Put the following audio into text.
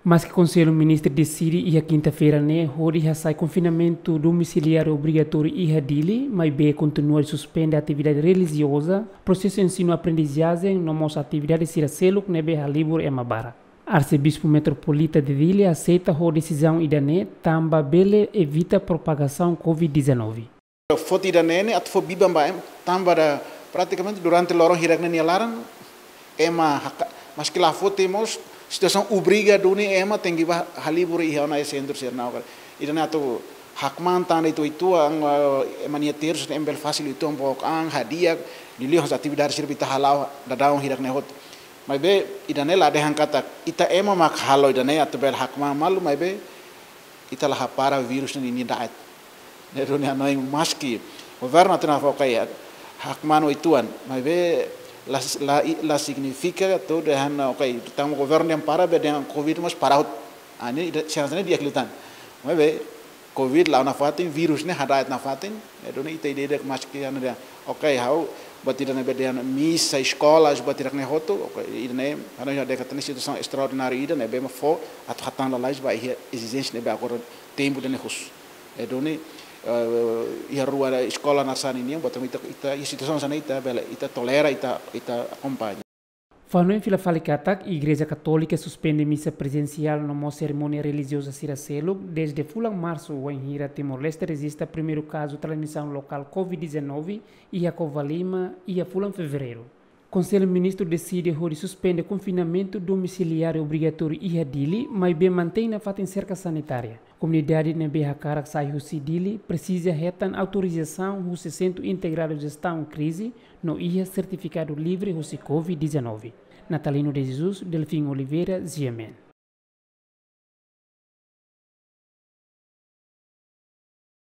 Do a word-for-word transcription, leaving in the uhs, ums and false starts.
Maski Konsellu Ministru deside iha kinta-feira ne'e hodi hasai konfinamentu domiciliáriu obrigatóriu iha Dili, maibé kontinua suspende atividade relijioza, prosesu ensinu-aprendizajen no mós atividade sira seluk ne'ebé halibur ema barak. Arsebispu Metropolita de Dili aseita ho desizaun ida-ne'e tanba bele evita propagasaun covid dezanove. Foti ida-ne'e ne'e atu fó biban ba ema, tanba da pratikamente durante loron hirak ne'e nia laran, ema haka-, maski la foti mós, situasaun obriga duni ema tenke bá halibur iha ona iha sentru sira-ne'e. Ida-ne'e atu hakmaan tan ita uitoan, eh, ema nia tersu ne'e ema bele fasil uitoan book an, hadi'a, liuliu hanesan atividade sira ita hala'o daudaun hirak ne'e hotu. Maibé, ida-ne'e la dehan katak ita ema mak halo ida-ne'e atu bele hakmaan malu, maibé, ita la hapara virus ne'e nia da'et. Ne'e duni hanoin maski governu atu nafakai hakmaan uitoan, maibé la, la, la signifika atu dehan, ok, tanba governu dehan para, be dehan covid mós para hotu. Ah, ne'e ida, chance ne'e di'ak liután. Maibé, covid la'o nafatin, virus ne'e hada'et nafatin, ne'e duni ita ida-idak maski anu dehan, ok, ha'u, buat ida ne'ebé dehan misa, eskola, buat ida ne'e hotu, ok, ida-ne'e, hanoin dehan katak ne'e situasaun estraordináriu ida ne'ebé mak fó atu hatán lalais ba iha ezijénsia ne'ebé agora tempu ida-ne'e husu. Ne'e duni, eh, iha rua eskola hanesan ne'e nian, buat ita, ita, iha situasaun hanesan ne'e ita bele, ita tolera, ita, ita akompaña. Fó-hanoin fila fali katak, Igreja Katólika suspende misa prezensiál no mós serimónia relijioza sira seluk, dezde fulan Marsu, wainhira Timor-Leste rejista primeiru kazu transmisaun lokál covid dezanove iha Covalima, iha fulan Fevereiru. Konsellu Ministru deside hodi suspende konfinamentu domiciliáriu obrigatóriu iha Dili, maibé mantein nafatin serka sanitária. Komunidade ne'ebé hakarak sai husi Dili presiza hetan autorizasaun husi Sentru Integradu Jestaun Krize no iha sertifikadu livre husi covid dezanove. Natalino de Jesus, Delfim Oliveira, G M N.